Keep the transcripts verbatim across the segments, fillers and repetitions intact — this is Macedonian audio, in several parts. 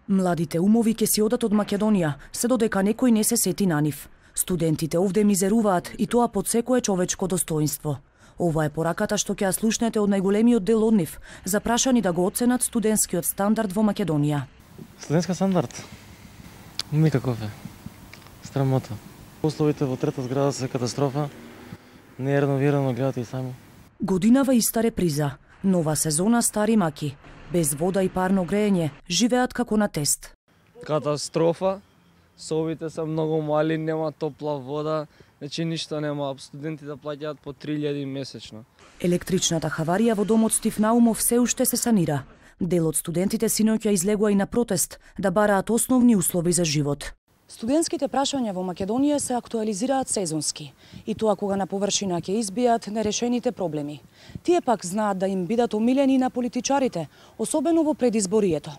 Младите умови ќе си одат од Македонија, се додека некој не се сети на нив. Студентите овде мизеруваат и тоа под секое човечко достоинство. Ова е пораката што ќе ја слушнете од најголемиот дел од нив, запрашани да го оценат студентскиот стандард во Македонија. Студентска стандард? Никаков е. Срамота. Условите во трета зграда се катастрофа. Не е реновирано, гледате и сами. Годинава иста реприза. Нова сезона, стари маки. Без вода и парно греење, живеат како на тест. Катастрофа. Собите се многу мали, нема топла вода, значи ништо нема. Студентите плаќаат по три илјади месечно. Електричната хаварија во домот Стив Наумов се уште се санира. Дел од студентите синоќа излегува и на протест да бараат основни услови за живот. Студентските прашања во Македонија се актуализираат сезонски, и тоа кога на површина ќе избијат нерешените проблеми. Тие пак знаат да им бидат омилени на политичарите, особено во предизборието.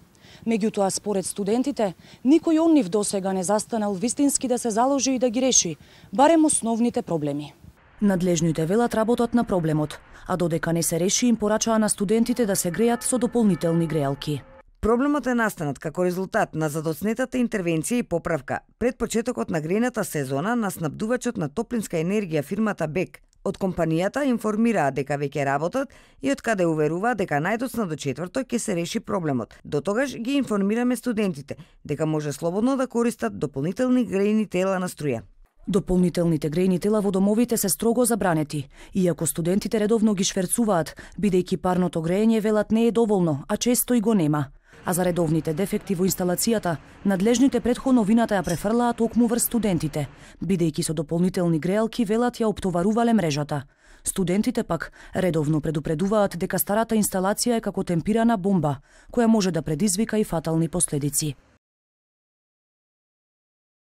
Меѓутоа, според студентите, никој од нив досега не застанал вистински да се заложи и да ги реши, барем основните проблеми. Надлежните велат работат на проблемот, а додека не се реши им порачаа на студентите да се грејат со дополнителни греалки. Проблемот е настанат како резултат на задоцнетата интервенција и поправка пред почетокот на грејната сезона на снабдувачот на топлинска енергија фирмата БЕК. Од компанијата информираа дека веќе работат и од каде уверуваат дека најдоцна до четврток ќе се реши проблемот. До тогаш ги информираме студентите дека може слободно да користат дополнителни грејни тела на струја. Дополнителните грејни тела во домовите се строго забранети, иако студентите редовно ги шверцуваат, бидејќи парното грејење велат не е доволно, а често и го нема. А за редовните дефекти во инсталацијата, надлежните претходно вината ја префрлаа токму врз студентите, бидејќи со дополнителни греалки велат ја оптоварувале мрежата. Студентите пак редовно предупредуваат дека старата инсталација е како темпирана бомба, која може да предизвика и фатални последици.